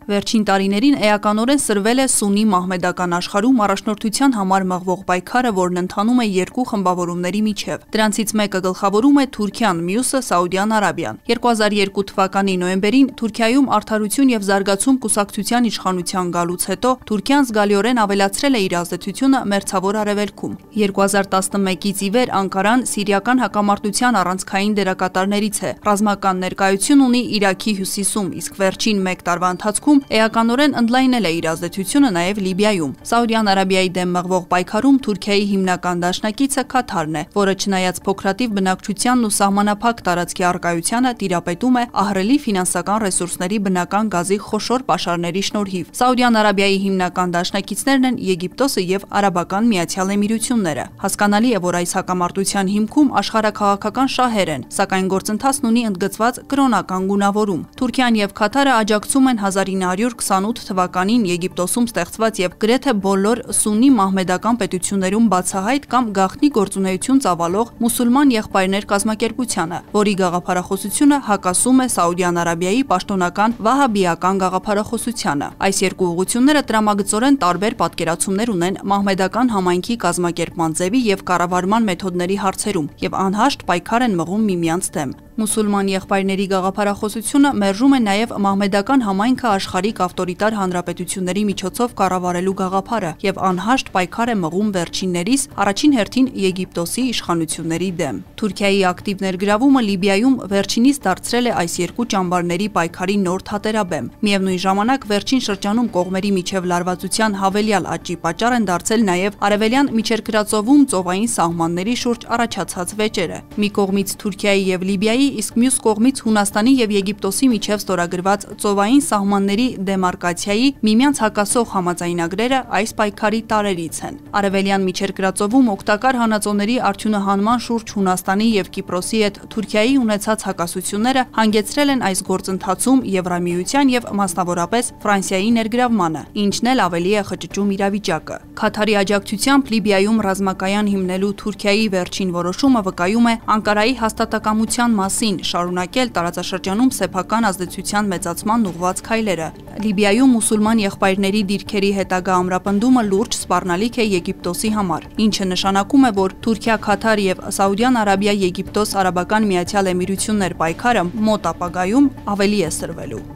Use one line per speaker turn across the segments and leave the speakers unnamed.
Վերջին տարիներին էականորեն սրվել է սուննի մահմեդական աշխարհում առաջնորդության համար մղվող պայքարը, որն ընթանում է երկու խմբավորումների միջև։ Դրանցից մեկը գլխավորում է Թուրքիան, մյուսը Սաուդյան Արաբիան։ 2002 թվականի նոյեմբերին Թուրքիայում Արդարություն և զարգացում կուսակցության իշխանության գալուց հետո Թուրքիան զգալիորեն ավելացրել է իր ազդեցությունը Մերձավոր Արևելքում։ 2011-ից ի վեր Անկարան սիրիական հակամարտության առանցքային դերակատարներից է։ Ռազմական ներկայություն ունի Իրաքի հյուսիսում, իսկ վերջին մեկ տարվա ընթացքում էականորեն ընդլայնել է իր ազդեցությունը նաև Լիբիայում։ Սաուդյան Արաբիայի դեմ մղվող պայքարում Թուրքիայի հիմնական դաշնակիցը Քաթարն է, որը չնայած փոքրաթիվ բնակչությանն ու սահմանափակ տարածքի առկայությանը տիրապետում է ահռելի ֆինանսական ռեսուրսների բնական գազի խոշոր պաշարների շնորհիվ։ Սաուդյան Արաբիայի հիմնական դաշնակիցներն են Եգիպտոսը և Արաբական Միացյալ Էմիրությունները։ Հասկանալի է, որ այս հակամարտության հիմքում աշխարհաքաղաքական շահեր են, սակայն գործընթացն ունի ընդգծված կրոնական գունավորում։ Թուրքիան և Քաթարը աջակցում են 1928 թվականին Եգիպտոսում ստեղծված և գրեթե բոլոր սուննի մահմեդական պետություններում բացահայտ կամ գաղտնի գործունեություն ծավալող մուսուլման եղբայրներ կազմակերպությանը, որի գաղափարախոսությունը հակասում է Սաուդյան Արաբիայի պաշտոնական վահաբիական գաղափարախոսությանը։ Այս երկու ուղղությունները տրամագծորեն տարբեր պատկերացումներ ունեն մահմեդական համայնքի կազմակերպման ձևի և կառավարման մեթոդների հարցերում և անհաշտ պայքար են մղում միմյանց դեմ։ Մուսուլման եղբայրների գաղափարախոսությունը մերժում է նաև մահմեդական համայնքը աշխարհիկ ավտորիտար հանրապետությունների միջոցով կառավարելու գաղափարը և անհաշտ պայքար է մղում վերջիններիս առաջին հերթին Եգիպտոսի իշխանությունների դեմ։ Թուրքիայի ակտիվ ներգրավումը Լիբիայում վերջինիս դարձրել է այս երկու ճամբարների պայքարի նոր թատերաբեմ։ Միևնույն ժամանակ վերջին շրջանում կողմերի միջև լարվածության հավելյալ աճի պատճառ են դարձել նաև արևելյան Միջերկրածովում ծովային սահմանների շուրջ առաջացած վեճերը։ Մի կողմից Թուրքիայի և Լիբիայի, իսկ մյուս կողմից Հունաստանի և Եգիպտոսի միջև ստորագրված ծովային սահմանների դեմարկացիայի միմյանց հակասող համաձայնագրերը այս պայքարի տարրերից են։ Արևելյան Միջերկրածովում օգտակար հանածոների արդյունահանման շուրջ Հունաստանի և Կիպրոսի հետ Թուրքիայի ունեցած հակասությունները հանգեցրել են այս գործընթացում Եվրամիության և մասնավորապես Ֆրանսիայի ներգրավմանը, ինչն էլ ավելի է խճճում իրավիճակը։ Քաթարի աջակցությամբ Լիբիայում ռազմակայան հիմնելու Թուրքիայի վերջին որոշումը վկայում է Անկարայի հաստատակամության մասին շարունակել տարածաշրջանում սեփական ազդեցության մեծացման ուղղված քայլերը։ Լիբիայում մուսուլման եղբայրների դիրքերի հետագա ամրապնդումը լուրջ սպառնալիք է Եգիպտոսի համար, ինչը նշանակում է, որ Թուրքիա, Քաթար և Սաուդյան Արաբիա, Եգիպտոս, Արաբական Միացյալ Էմիրություններ պայքարը մոտ ապագայում ավելի է սրվելու։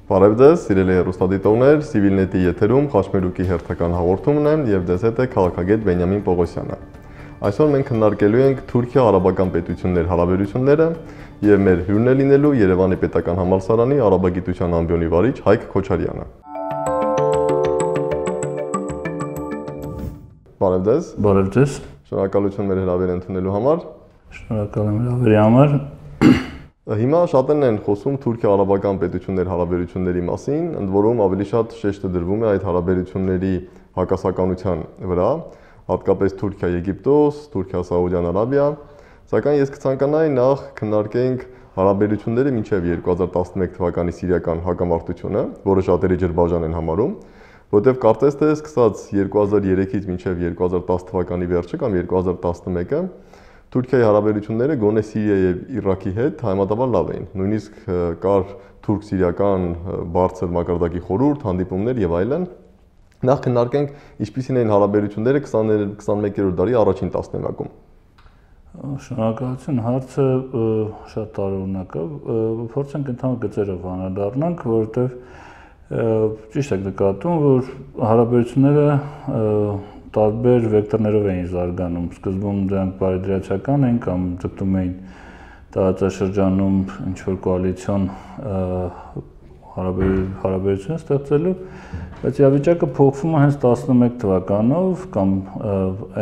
Բարև ձեզ, սիրելի հեռուստադիտողներ, Civilnet-ի եթերում Խաչմերուկի հերթական հաղորդումն է և ձեզ հետ է քաղաքագետ Բենյամին Պողոսյանը։ Այսօր մենք քննարկելու ենք Թուրքիա-արաբական պետությունների հարաբերությունները և մեր հյուրն է լինելու Երևանի պետական համալսարանի արաբագիտության ամբիոնի վարիչ Հայկ Քոչարյանը։ Բարև ձեզ։
Բարև ձեզ։
Շնորհակալություն մեր հրավերը ընդունելու համար։
Շնորհակալ եմ հրավերի համար։
Հիմա շատերն են խոսում Թուրքիա-արաբական պետությունների հարաբերությունների մասին, ընդ որում ավելի շատ շեշտը դրվում է այդ հարաբերությունների հակասականության վրա, հատկապես Թուրքիա-Եգիպտոս, Թուրքիա-Սաուդյան Արաբիա, սակայն ես կցանկանայի նախ քննարկենք հարաբերությունները մինչև 2011 թվականի սիրիական հակամարտությունը, որը շատերի ջրբաժան են համարում, որտեղ կարծես թե սկսած 2003-ից մինչև 2010 թվականի վերջը կամ 2011-ը Թուրքիայի հարաբերությունները գոնե Սիրիայի և Իրաքի հետ համեմատաբար լավ էին։ Նույնիսկ կար թուրք-սիրիական բարձր մակարդակի խորհուրդ, հանդիպումներ եւ այլն։ Նախ քննարկենք ինչպիսին էին հարաբերությունները 21-րդ դարի առաջին տասնամյակում։
Շնորհակալություն, հարցը շատ տարօրինակ է։ Փորձենք ընդհանուր գծերով անդրադառնանք, որովհետեւ ճիշտ եք նկատում, որ հարաբերությունները տարբեր վեկտորներով էին զարգանում։ Սկզբում դրանք բարեդրացիական էին կամ ձգտում էին տարածաշրջանում ինչ-որ կոալիցիոն հարաբերություն ստեղծելու, բայց իրավիճակը փոխվում է հենց 11 թվականով կամ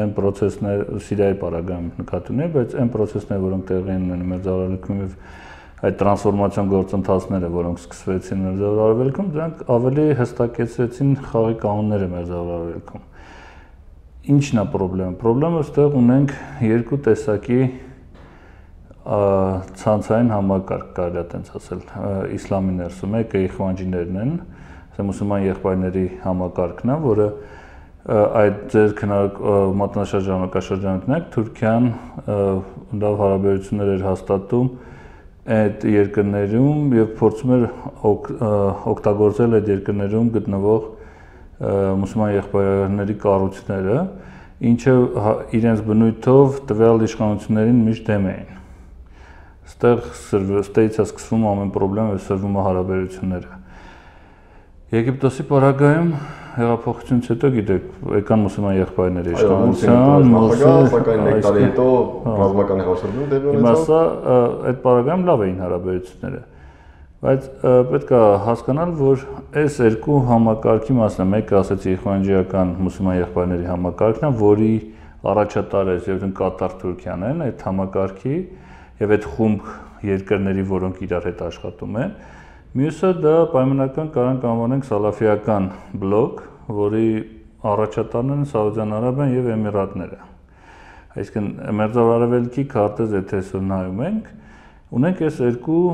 այն պրոցեսներ Սիրիայի պարագայում նկատի ունի, բայց այն պրոցեսները, որոնք տեղի են ունենում Մերձավոր Արևելքում եւ այդ տրանսֆորմացիոն գործընթացները, որոնք սկսվեցին Մերձավոր Արևելքում, դրանք ավելի հստակեցրեցին խաղի կանոնները Մերձավոր Արևելքում։ Ինչն է խնդրեմը։ Խնդրեմը այստեղ ունենք երկու տեսակի ցանցային համակարգ, կարելի է տենց ասել, իսլամի ներսում։ Մեկը իխվանջիներն են, մուսուլման եղբայրների համակարգն է, որը այդ ձեր մատնաշարժ ժամանակաշրջաններն Թուրքիան լավ հարաբերություններ էր հաստատում այդ երկրներում եւ փորձում էր օգտագործել այդ երկրներում գտնվող մուսուլման եղբայրների կառույցները, ինչը իրենց բնույթով տվյալ իշխանություններին միշտ դեմ էին։ Ստեղից է սկսվում ամեն խնդրեմ եւ սրվում է հարաբերությունները։ Եգիպտոսի պարագայում հեղափոխությունից հետո գիտեք, եկան մուսուլման եղբայրների իշխանության,
սակայն մեկ տարի հետո ռազմական հեղաշրջում տեղի ունեցավ։
Հիմա այդ պարագայում լավ էին հարաբերությունները, բայց պետք է հասկանալ, որ այս երկու համակարգի մասն է, մեկը ասեցի իխվանջիական մուսուլման եղբայրների համակարգն է, որի առաջատարը եւ Կատար Թուրքիան են, այդ համակարգի եւ այդ խումբ երկրների, որոնք իրար հետ աշխատում են։ Մյուսը դա պայմանական կարանք անվանենք սալաֆիական բլոկ, որի առաջատարն են Սաուդյան Արաբիան եւ Էմիրատները։ Այսինքն Մերձարևելքի քարտեզ եթե նայում ենք, ունենք այս երկու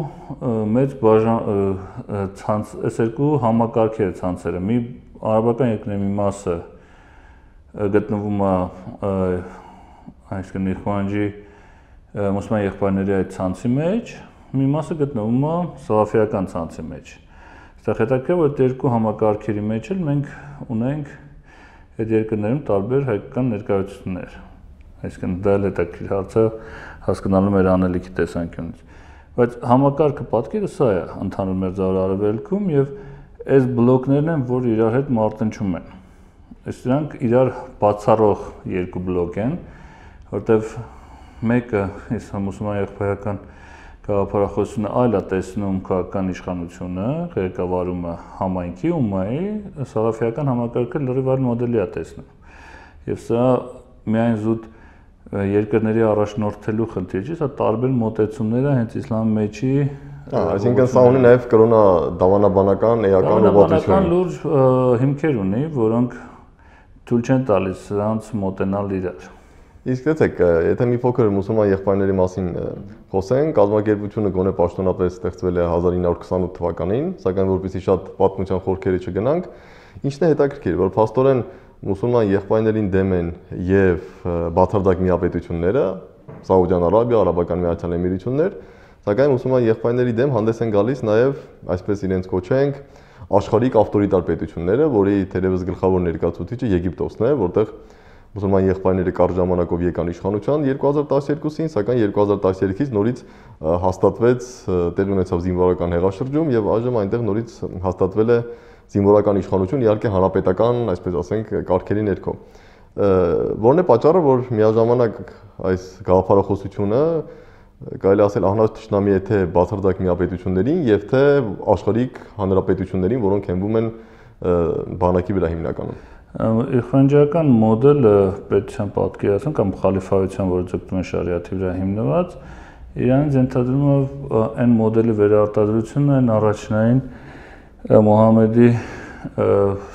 մեծ այս երկու համակարգերի ցանցերը։ Մի արաբական երկրների մի մասը գտնվում է այսինքն իխվանջի մուսուլման եղբայրների այդ ցանցի մեջ, մի մասը գտնվում է սալաֆիական ցանցի մեջ։ Այստեղ հետաքրքիր է, որ երկու համակարգերի մեջ էլ մենք ունենք այդ երկրներում տարբեր հայկական ներկայացություններ։ Այսինքն դա էլ հետաքրքիր հարց է հասկանալու մեր անելիքի տեսանկյունից։ Բայց համակարգը պատկերը սա է ընդհանուր Մերձարևելքում եւ այս բլոկներն են, որ իրար հետ մարտնչում են։ Այս դրանք իրար բացառող երկու բլոկ են, որտեղ մեկը մուսուլման եղբայրական գաղափարախոսությունը այլ է տեսնում քաղաքական իշխանությունը, ղեկավարումը համայնքի ումմայի, սալաֆիական համակարգը լրիվ այլ մոդելի է տեսնում։ Եվ սա միայն զուտ երկրների առաջնորդելու խնդիր չի, սա տարբեր մոտեցումներ է հենց իսլամի մեջի,
այսինքն սա ունի նաև կրոնա դավանաբանական էական ուղղություն։
Լուրջ հիմքեր ունի, որոնք թույլ չեն տալիս սրանց մոտենալ իրար։
Իսկ եթե մի փոքր մուսուլման եղբայրների մասին խոսենք, կազմակերպությունը գոնե պաշտոնապես ստեղծվել է 1928 թվականին, սակայն որպեսզի շատ պատմության խորքերի չգնանք, ինչն է հետաքրքիր, որ փաստորեն մուսուլման եղբայրներին դեմ են եւ բացարձակ միապետությունները, Սաուդյան Արաբիա, Արաբական Միացյալ Էմիրություններ, սակայն մուսուլման եղբայրների դեմ հանդես են գալիս նաեւ, այսպես իրենց կոչենք, աշխարհիկ ավտորիտար պետությունները, որի թերևս գլխավոր ներկայացուցիչը Եգիպտոսն է, որտեղ մուսուլման եղբայրները կարճ ժամանակով եկան իշխանության 2012-ին, սակայն 2013-ից նորից հաստատվեց, տեղի ունեցավ զինվորական հեղաշրջում եւ այժմ այնտեղ նորից հաստատվել է զինվորական իշխանություն, իհարկե հանրապետական, այսպես ասենք, կարգերի ներքո։ Որն է պատճառը, որ միաժամանակ այս գաղափարախոսությունը կարելի ասել ահնած թշնամի է թե բացարձակ միապետություններին եւ թե աշխարհիկ հանրապետություններին, որոնք հենվում են բանակի վրա հիմնականում։
Իխվանջիական մոդելը պետության պատկերացում կամ խալիֆայության, որը ձգտում է շարիաթի վրա հիմնված, իրանց ենթադրում է այն մոդելի վերարտադրությունը, այն առաջնային Մուհամեդի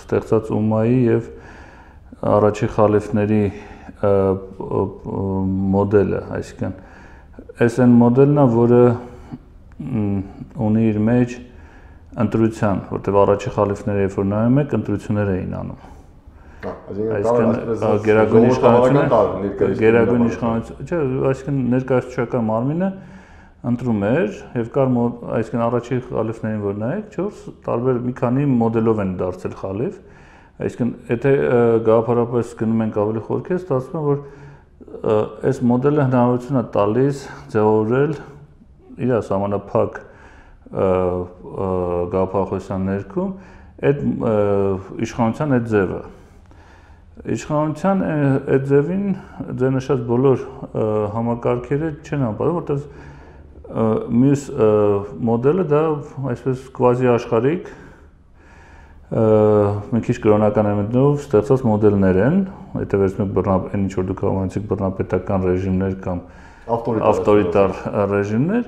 ստեղծած ումմայի եւ առաջի խալիֆների մոդելը, այսինքն այս այն մոդելն է, որը ունի իր մեջ ընտրության, որտեղ առաջի խալիֆները երբ որ նայում եք, ընտրություններ էին անում։ Այսինքն գերագույն իշխանությունը, չէ, այսինքն ներկայացուցչական մարմինը ընտրում էր եւ կար այսինքն առաջի խալիֆներին որ նայեք 4 տարբեր մի քանի մոդելով են դարձել խալիֆ, այսինքն եթե գաղափարապես գնում ենք ավելի խորքեր, ստացվում է որ այս մոդելը հնարավորություն է տալիս ձևավորել իր սահմանափակ գաղափարախոսության ներքո այդ իշխանության այդ ձևը իշխանության այդ ձևին ձեր նշած բոլոր համակարգերը չեն անպայման, որտեղ մյուս մոդելը դա այսպես կվազի աշխարհիկ մի քիչ կրոնական էլեմենտներով ստեղծած մոդելներ են, եթե վերցնենք այն ինչ որ դուք անվանեցիք բռնապետական ռեժիմներ կամ ավտորիտար ռեժիմներ,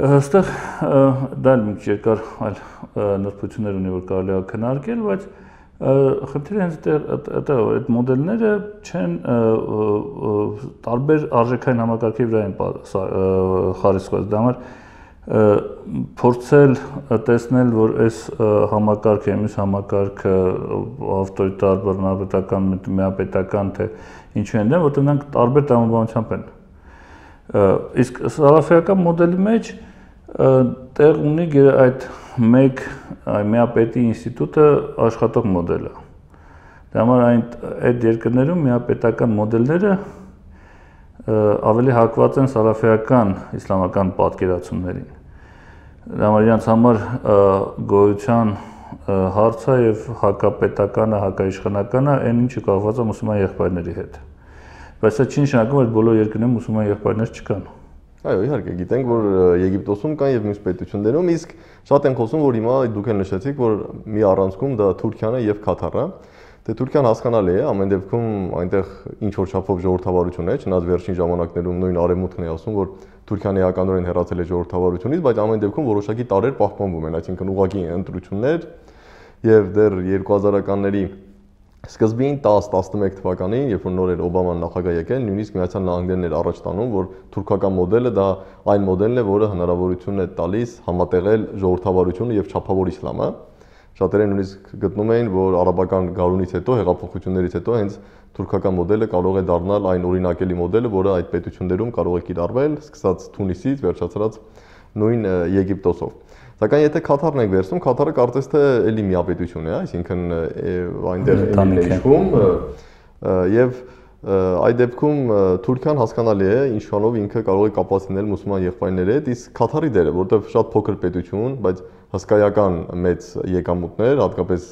այստեղ դա մի քիչ երկար այլ նրբություններ ունի, որ կարելի է քննարկել, բայց խնդիրը հենց այդտեղ այդ մոդելները չեն տարբեր արժեքային համակարգի վրա են խարիսխված, դա համար փորձել տեսնել, որ այս համակարգը, այս համակարգը ավտորիտար, բռնապետական, միապետական թե ինչու են, որտեղ նրանք տարբեր տրամաբանությամբ են։ Իսկ սալաֆիական մոդելի մեջ տեղ ունի այդ մեկ միապետի ինստիտուտը աշխատող մոդել է։ Դա համար այդ երկրներում միապետական մոդելները ավելի հակված են սալաֆիական իսլամական պատկերացումներին։ Դա համար իրենց համար գոյության հարցը եւ հակապետականը, հակաիշխանականը այն ինչը կապված է մուսուլման եղբայրների հետ։ Բայց դա չի նշանակում, որ բոլոր երկրներում մուսուլման եղբայրներ չկան։
Այո, իհարկե, գիտենք, որ Եգիպտոսում կան եւ մյուս պետություններում, իսկ շատ են խոսում, որ հիմա դուք էլ նշեցիք, որ մի առանցքում դա Թուրքիան է եւ Քաթարը։ Դե Թուրքիան հասկանալի է, ամեն դեպքում այնտեղ ինչ որ չափով ժողովրդավարություն է, չնայած վերջին ժամանակներում նույն արևմուտքն է ասում, որ Թուրքիան էականորեն հեռացել է ժողովրդավարությունից, բայց ամեն դեպքում որոշակի տարրեր պահպանվում են, այսինքն ուղղակի ընտրություններ եւ դեռ 2000-ականների սկզբին 10-11 թվականին, երբ որ նոր էր Օբաման նախագահ եկել, նույնիսկ Միացյալ Նահանգներն էր առաջ տանում, որ թուրքական մոդելը դա այն մոդելն է, որը հնարավորություն է տալիս համատեղել ժողովրդավարությունը եւ չափավոր իսլամը։ Շատերը նույնիսկ գտնում էին, որ արաբական գարունից հետո, հեղափոխություններից հետո հենց թուրքական մոդելը կարող է դառնալ այն օրինակելի մոդելը, որը այդ պետություններում կարող է կիրառվել, սկսած Թունիսից, վերջացրած նույն Եգիպտոսով։ Սակայն եթե Քաթարն ենք վերցնում, Քաթարը կարծես թե էլի միապետություն է, այսինքն այնտեղ էլի իշխում եւ այդ դեպքում Թուրքիան հասկանալի է, ինչքանով ինքը կարող է կապված լինել մուսուլման եղբայրների հետ, իսկ Քաթարի դերը, որտեղ շատ փոքր պետություն, բայց հսկայական մեծ եկամուտներ, հատկապես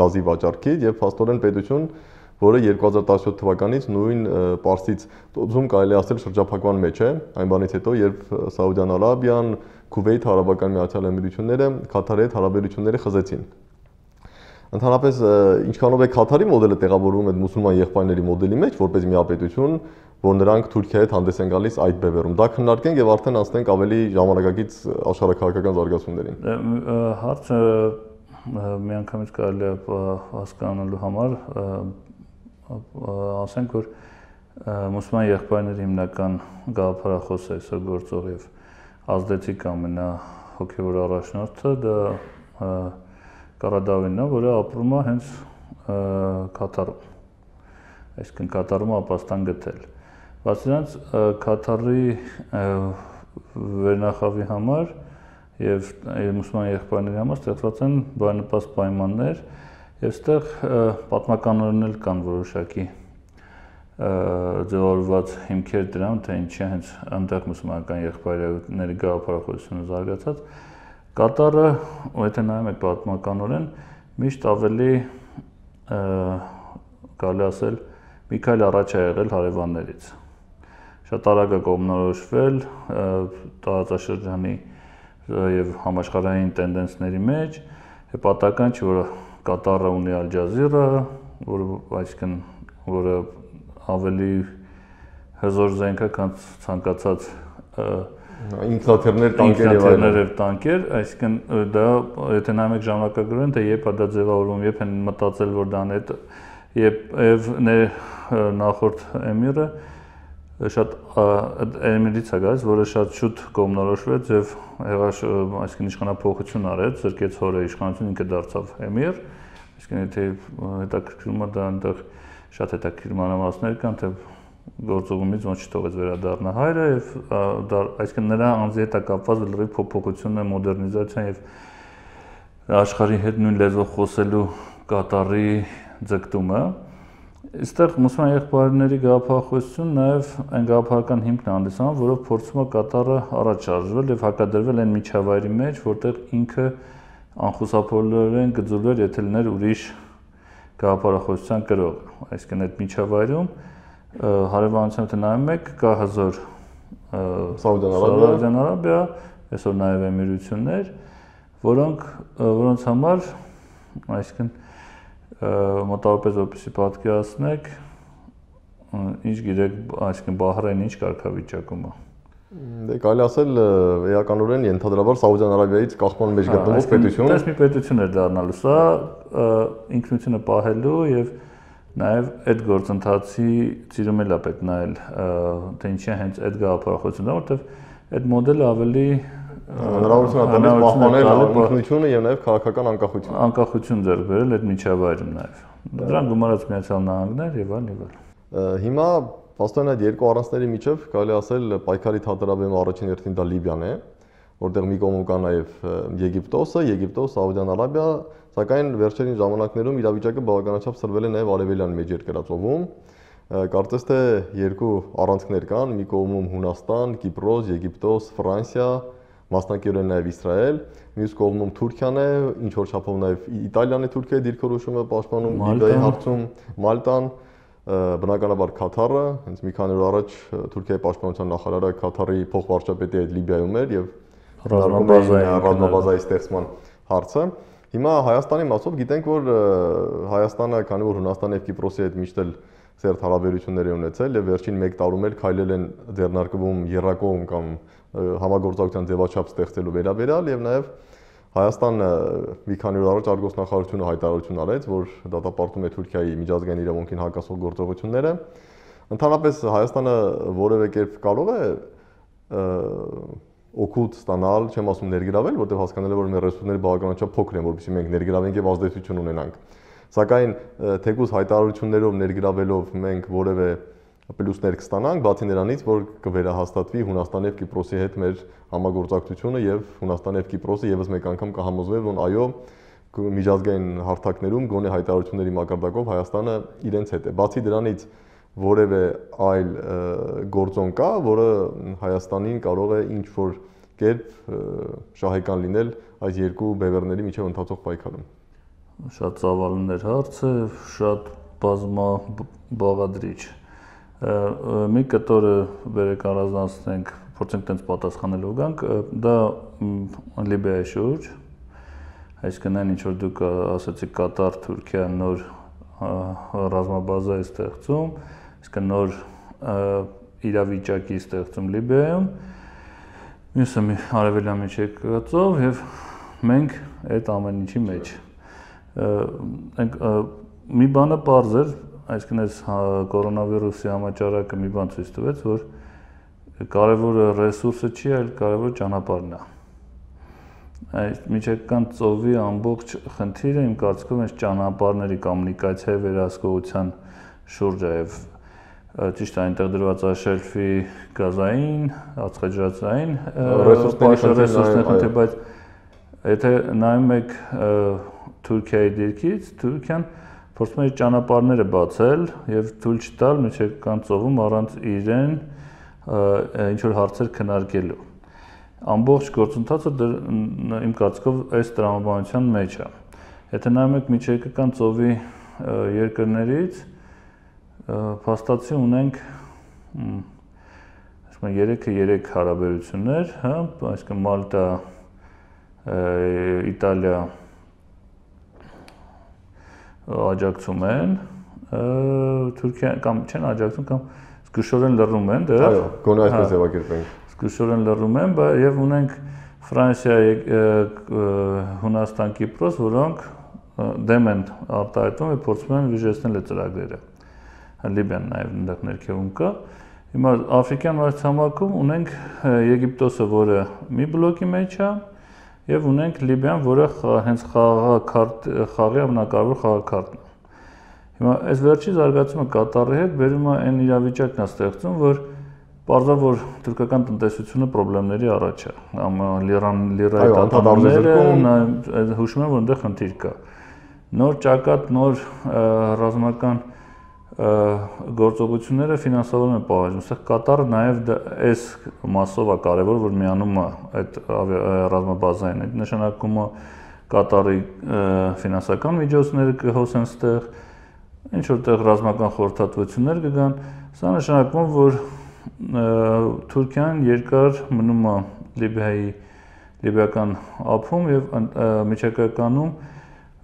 գազի վաճառքից եւ փաստորեն պետություն, որը 2017 թվականից նույն Պարսից ծոցում կարելի ասել շրջափակման մեջ է, այն բանից հետո, երբ Սաուդյան Արաբիան, Քուվեյթ, Արաբական Միացյալ Էմիրությունները Քաթարի հետ հարաբերությունները խզեցին։ Ընդհանրապես ինչքանով է Քաթարի մոդելը տեղավորվում այդ մուսուլման եղբայրների մոդելի մեջ, որպես միապետություն, որ նրանք Թուրքիայի հետ հանդես են գալիս այդ բևեռում։ Դա քննարկենք եւ արդեն անցնենք ավելի ժամանակակից աշխարհաքաղաքական զարգացումներին։
Հարցը միանգամից կարելի է հասկանալու համար ասենք, որ մուսուլման եղբայրների հիմնական գաղափարախոսը այսօր գործող եւ ազդեցիկ ամենահոգեւոր առաջնորդը դա Կարադավինն է, որը ապրում է հենց Քաթարում։ Այսինքն Քաթարում ապաստան գտել։ Բացի դրանից Քաթարի վերնախավի համար եւ մուսուլման եղբայրների համար ստեղծված են բարենպաստ պայմաններ եւ այստեղ պատմականորեն էլ կան որոշակի ձևավորված հիմքեր դրան, թե ինչի է հենց այնտեղ մուսուլմանական եղբայրների գաղափարախոսությունը զարգացած։ Կատարը, եթե նայում եք պատմականորեն, միշտ ավելի կարելի ասել մի քայլ առաջ է եղել հարևաններից։ Շատ արագ է կողմնորոշվել տարածաշրջանի եւ համաշխարհային տենդենսների մեջ, պատահական չէ, որ Կատարը ունի Ալ Ջազիրա, որը ավելի հզոր զենք է, քան ցանկացած
ինքնաթիռներ,
տանկեր, այսինքն դա եթե նայում եք ժամանակագրորեն, թե երբ է դա ձևավորվում, երբ են մտածել, որ դա եւ նախորդ էմիրը շատ էմիրից է գալիս, որը շատ շուտ կողմնորոշվեց եւ այսինքն իշխանափոխություն արեց, զրկեց հորը իշխանություն, ինքը դարձավ էմիր, այսինքն եթե հետաքրքրում է դա այնտեղ շատ հետաքրքիր մանրամասներ կան, թե գործողումից ոնց չթողեց վերադառնա հայրը եւ այսինքն նրա անձի հետ կապված լրիվ փոփոխությունն է, մոդեռնիզացիան եւ աշխարհի հետ նույն լեզվով խոսելու կատարի ձգտումը։ Այստեղ մուսուլման եղբայրների գաղափարախոսություն նաեւ այն գաղափարական հիմքն է հանդիսանում, որով փորձում է կատարը առաջ շարժվել եւ հակադրվել այն միջավայրի մեջ, որտեղ ինքը անխուսափողորեն գծուլեր, եթե լիներ ուրիշ գաղափարախոսության կրող։ Այսինքն այդ միջավայրում հարևանությամբ թե նայում եք, կա հզոր Սաուդյան Արաբիա, այսօր նաև Էմիրություններ, որոնց համար, այսինքն մոտավորապես որպեսզի պատկերացնեք, ինչ գիտեք, այսինքն Բահրեյնը ինչ կարգավիճակում է։
Դե կարելի ասել էականորեն ենթադրաբար Սաուդյան Արաբիայից կախման մեջ գտնվող պետություն։
Այս մի պետություն էր դառնալու, սա ինքնությունը պահելու եւ նաև այդ գործընթացի ծիրում էլ է պետք նայել, թե ինչի է հենց այդ գաղափարախոսությունը, որտեղ այդ մոդելը ավելի
հնարավորություն տալիս պահպանել ինքնությունը եւ նաեւ քաղաքական անկախություն։
Անկախություն ձեռք բերել այդ միջավայրում նաեւ։ Դրան գումարած Միացյալ Նահանգներ եւ այլն եւ այլն։
Հիմա Պաստորեն այդ երկու առանցքների միջև կարելի ասել պայքարի թատերաբեմը առաջին հերթին դա Լիբիան է, որտեղ մի կողմում կա նաև Եգիպտոս, Սաուդյան Արաբիա, սակայն վերջերին ժամանակներում իրավիճակը բավականաչափ սրվել է նաև արևելյան մեծ երկրածովում։ Կարծես թե երկու առանցքներ կան, մի կողմում Հունաստան, Կիպրոս, Եգիպտոս, Ֆրանսիա, մասնակիորեն նաև Իսրայել, մյուս կողմում Թուրքիան է, ինչ որ չափով նաև Իտալիան է Թուրքիայի դիրքորոշումը պաշտպանում, Լիբիայի հարցում Մալտան, բնականաբար Կաթարը, հենց մի քանի օր առաջ Թուրքիայի պաշտպանության նախարարը Կաթարի փոխվարչապետի այդ Լիբիայում էր եւ ռազմաբազայի ստեղծման հարցը։ Հիմա Հայաստանի մասով գիտենք, որ Հայաստանը, քանի որ Հունաստանի եւ Կիպրոսի հետ միշտ էլ սերտ հարաբերություններ են ունեցել եւ վերջին 1 տարում էլ քայլել են ձեռնարկվում երրակողմ կամ համագործակցության ձևաչափ ստեղծելու վերաբերյալ եւ նաեւ Հայաստանը մի քանի օր առաջ արտգործնախարարությունը հայտարարություն արեց, որ դատապարտում է Թուրքիայի միջազգային իրավունքին հակասող գործողությունները։ Ընդհանրապես Հայաստանը որևէ կերպ կարող է օգուտ ստանալ, չեմ ասում ներգրավել, որտեղ հասկանալ է, որ մեր ռեսուրսները բավականաչափ փոքր են, որովհետեւ մենք ներգրավենք եւ ազդեցություն ունենանք։ Սակայն թեկուզ հայտարարություններով ներգրավելով մենք որևէ պլյուսներ կստանանք, բացի նրանից, որ կվերահաստատվի Հունաստանի եւ Կիպրոսի հետ մեր համագործակցությունը եւ Հունաստանի եւ Կիպրոսը եւս մեկ անգամ կհամոզվեն, որ այո, միջազգային հարթակներում գոնե հայտարարությունների մակարդակով Հայաստանը իրենց հետ է։ Բացի դրանից որևէ այլ գործոն կա, որը Հայաստանին կարող է ինչ-որ կերպ շահեկան լինել այս երկու բևեռների միջև ընթացող պայքարում։
Շատ ծավալներ հարցը, շատ բազմաբաղադրիչ։ Մի կտորը բերեք առանձնացնենք, փորձենք տենց պատասխանելով գանք, դա Լիբիայի շուրջ, այսինքն այն ինչ որ դուք ասացիք Կատար, Թուրքիա նոր ռազմաբազա է ստեղծում, այսինքն նոր իրավիճակի ստեղծում Լիբիայում, մյուսը արևելյան միջերկրածով եւ մենք այդ ամեն ինչի մեջ մի բանը պարզ էր, այսինքն այս կորոնավիրուսի համաճարակը մի բան ցույց տվեց, որ կարևորը ռեսուրսը չի, այլ կարևորը ճանապարհն է։ Այս միջերկրական ծովի ամբողջ խնդիրը իմ կարծիքով այս ճանապարհների կոմունիկացիայի վերահսկողության շուրջ է եւ ճիշտ այնտեղ դրված է շելֆի գազային, ածխաջրածային ռեսուրսների, բայց եթե նայում եք Թուրքիայի դիրքից, Թուրքիան փորձում է ճանապարհները բացել եւ թույլ չտալ միջերկրական ծովում առանց իրեն ինչ որ հարցեր քննարկելու։ Ամբողջ գործընթացը իմ կարծիքով այս տրամաբանության մեջ է։ Եթե նայում եք միջերկրական ծովի երկրներից, փաստացի ունենք այսինքն 3 հարաբերություններ, հա, այսինքն Մալտա, Իտալիա աջակցում են, Թուրքիա կամ չեն աջակցում կամ զգուշորեն լռում են, դեռ։
Այո, գոնե այսպես ձևակերպենք։
Զգուշորեն լռում են, եւ ունենք Ֆրանսիա, Հունաստան, Կիպրոս, որոնք դեմ են արտահայտվում եւ փորձում են վիժեցնել այդ ծրագրերը։ Լիբիան նաեւ այնտեղ ներքևում կա։ Հիմա Աֆրիկյան մայրցամաքում ունենք Եգիպտոսը, որը մի բլոկի մեջ է, եւ ունենք Լիբիան, որը հենց խաղի ամենակարևոր խաղաքարտն է։ Հիմա այս վերջի զարգացումը Կատարի հետ բերում է այն իրավիճակն է ստեղծում, որ պարզա որ թուրքական տնտեսությունը խնդիրների առաջ է։ Լիրայի տատանումները հուշում են, որ այնտեղ խնդիր կա։ Նոր ճակատ, նոր ռազմական գործողությունները ֆինանսավորում են պահանջում։ Այստեղ Կատարը նաև այս մասով է կարևոր, որ միանում է այդ ռազմաբազային։ Այդ նշանակում է Կատարի ֆինանսական միջոցները կհոսեն ստեղ, ինչ որտեղ ռազմական խորհրդատվություններ կգան։ Սա նշանակում է, որ Թուրքիան երկար մնում է լիբիական ափում եւ միջակայքանում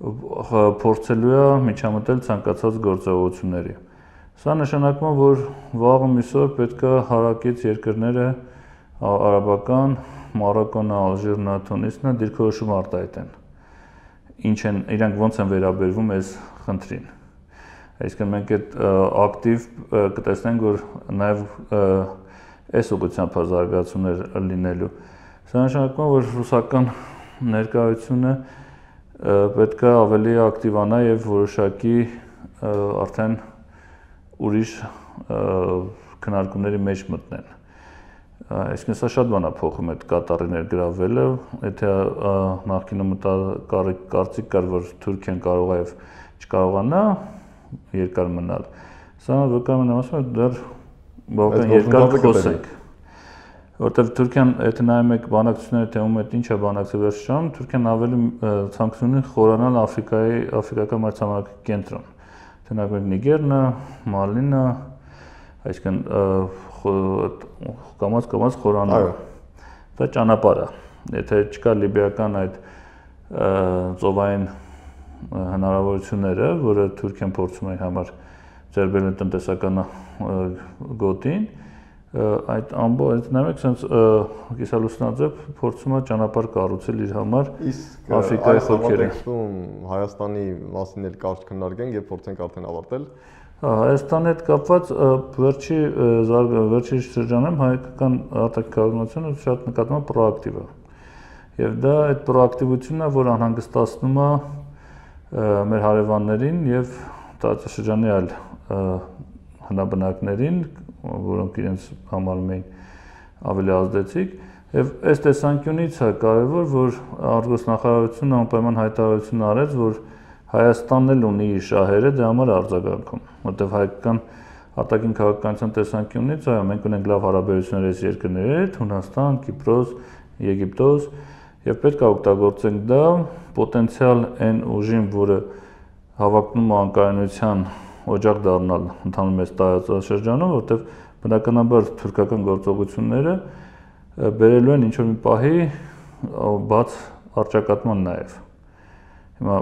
փորձելու է միջամտել ցանկացած գործողությունների։ Սա նշանակում է, որ վաղը միսօր պետք է հարակից երկրները արաբական, Մարոկոն, Ալժիրն, Թունիսն դիրքորոշում արտահայտեն։ Ինչ են իրանք ոնց են վերաբերվում այս խնդրին։ Այսինքն մենք այդ ակտիվ կտեսնենք, որ նաև այս ուղղությամբ զարգացումներ լինելու։ Սա նշանակում է, որ ռուսական ներկայությունը պետք է ավելի ակտիվանա եւ որոշակի արդեն ուրիշ քննարկումների մեջ մտնեն։ Այսինքն սա շատ բան է փոխում այդ Կատարի ներգրավելը, եթե նախկինում կարծիք կար, որ Թուրքիան կարող է եւ չկարողանա երկար մնալ, սա վկայում է ասում է դեռ բավական երկար խոսեք, որտեղ Թուրքիան, եթե նայում եք բանակցությունները, թե ում հետ ինչ է բանակցել վերջում, Թուրքիան ավելի ցանկություն ունի խորանալ աֆրիկական մայրցամաքի կենտրոն, թե նայում եք Նիգերնը, Մալինը, այսինքն կամաց խորանալ, դա ճանապարհ է, եթե չկա լիբիական այդ ծովային հնարավորությունները, որը Թուրքիան փորձում է համար ձեռբերել տնտեսական գոտին, այդ ամբողջ նայեք sense կիսալուսնաձև փորձում է ճանապարհ կառուցել իր համար Աֆրիկայի խորքերը։
Հայաստանի մասին էլ կարճ քննարկենք եւ փորձենք արդեն ավարտել։
Հայաստանի հետ կապված վերջի շրջանում հայկական արտաքաղաքականությունը շատ նկատվում է պրոակտիվ է։ Եվ դա այդ պրոակտիվությունն է, որ անհանգստացնում է մեր հարևաններին եւ տարածաշրջանի այլ հնաբնակներին, որոնք իրենց համարում էին ավելի ազդեցիկ, եւ այս տեսանկյունից է կարեւոր, որ արտգործնախարարությունը անպայման հայտարարություն արեց, որ Հայաստանն էլ ունի իր շահերը դրա համար արձագանքում, որտեղ հայկական արտաքին քաղաքականության տեսանկյունից այո, մենք ունենք լավ հարաբերություններ այս երկրների հետ, Հունաստան, Կիպրոս, Եգիպտոս, եւ պետք է օգտագործենք դա պոտենցիալ այն ուժին, որը հավակնում է անկայունության օջախ դառնալ ընդհանուր մեծ տարածաշրջանում, որտեղ բնականաբար թուրքական գործողությունները բերելու են ինչ-որ մի պահի բաց առճակատման նաեւ։ Հիմա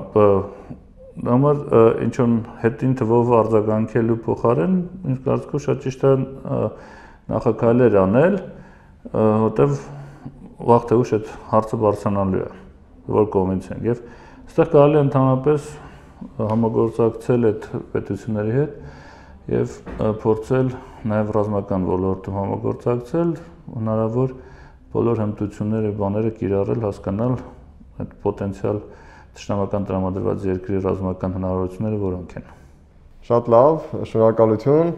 համար ինչ-որ հետին թվով արձագանքելու փոխարեն, ինձ կարծիքով շատ ճիշտ է նախաքայլեր անել, որտեղ վաղ թե ուշ այդ հարցը բարձրանալու է, որ կողմից են։ Եվ այստեղ կարելի է ընդհանրապես համագործակցել այդ պետությունների հետ եւ փորձել նաեւ ռազմական ոլորտում համագործակցել, հնարավոր բոլոր հմտությունները, բաները կիրառել, հասկանալ այդ պոտենցիալ Տշնամական տրամադրված երկրի ռազմական հնարավորությունները որոնք են։
Շատ լավ, շնորհակալություն։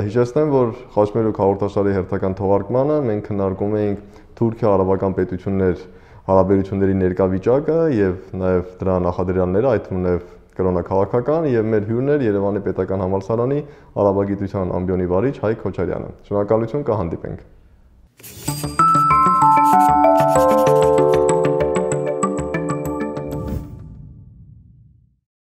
Հիշեցնեմ, որ Խաչմերուկ հաղորդաշարի հերթական թողարկմանը մենք քննարկում էինք Թուրքիա-արաբական պետություններ հարաբերությունների ներկա վիճակը եւ նաեւ դրա նախադրյալները, այդ թվում նաեւ կրոնաքաղաքական եւ մեր հյուրն էր Երևանի Պետական համալսարանի արաբագիտության ամբիոնի վարիչ Հայկ Քոչարյանը։ Շնորհակալություն, կհանդիպենք։